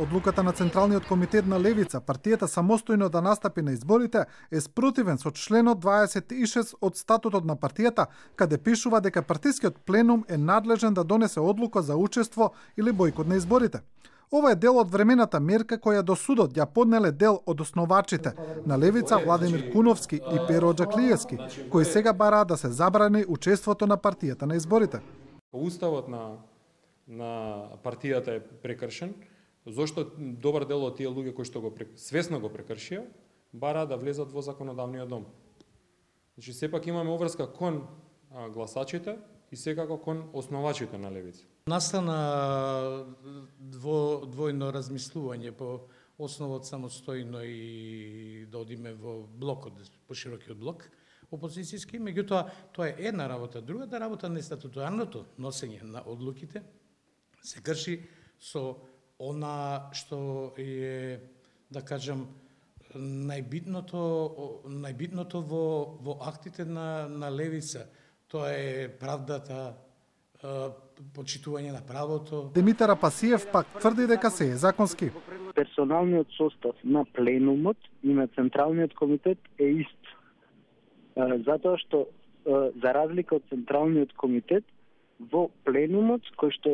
одлуката на Централниот комитет на Левица, партијата самостојно да настапи на изборите, е спротивен со членот 26 од статутот на партијата, каде пишува дека партискиот пленум е надлежен да донесе одлука за учество или бојкот на изборите. Ова е дел од времената мерка која до судот ја поднеле дел од основачите на Левица Владимир Куновски и Перо Џаклиевски, кои сега бараат да се забрани учеството на партијата на изборите. Уставот на партијата е прекршен, зашто добар дел од тие луѓе кои што свесно го прекршија, бараат да влезат во законодавниот дом. Значи сепак имаме обврска кон гласачите и секако кон основачите на Левица. Настана двојно размислување по основот самостојно и да одиме во блокот, по широкиот блок опозицијски, меѓутоа тоа е една работа. Другата работа на статутарното носење на одлуките се крши со она што е, да кажам, најбитното во актите на Левица. Тоа е правдата, почитување на правото. Димитар Апасиев пак тврди дека се е законски. Персоналниот состав на пленумот и на Централниот комитет е ист. Затоа што, за разлика од Централниот комитет, во пленумот, кој што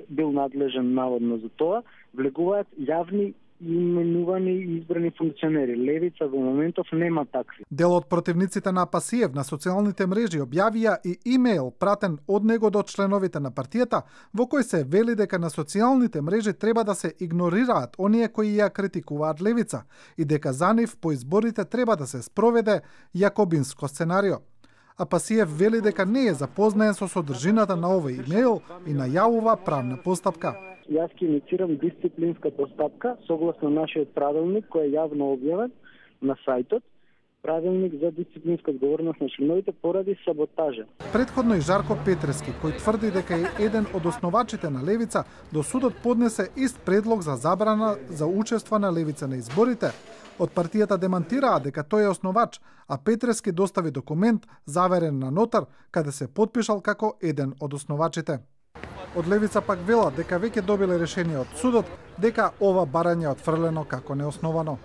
бил надлежен наводно за тоа, влегуваат јавни именувани и избрани функционери. Левица во моментов нема такви. Дел од противниците на Апасиев на социјалните мрежи објавија и имејл пратен од него до членовите на партијата, во кој се вели дека на социјалните мрежи треба да се игнорираат оние кои ја критикуваат Левица и дека за нив по изборите треба да се спроведе јакобинско сценарио. Апасиев вели дека не е запознаен со содржината на овој имејл и најавува правна постапка. Јас ќе инициирам дисциплинска постапка согласно нашиот правилник кој е јавно објавен на сајтот, правилник за дисциплинска одговорност на членовите поради саботажа. Претходно и Жарко Петрески, кој тврди дека е еден од основачите на Левица, до судот поднесе ист предлог за забрана за учество на Левица на изборите. Од партијата демантираа дека тој е основач, а Петрески достави документ заверен на нотар, каде се потпишал како еден од основачите. Од Левица пак велат дека веќе добиле решение од судот дека ова барање е отфрлено како неосновано.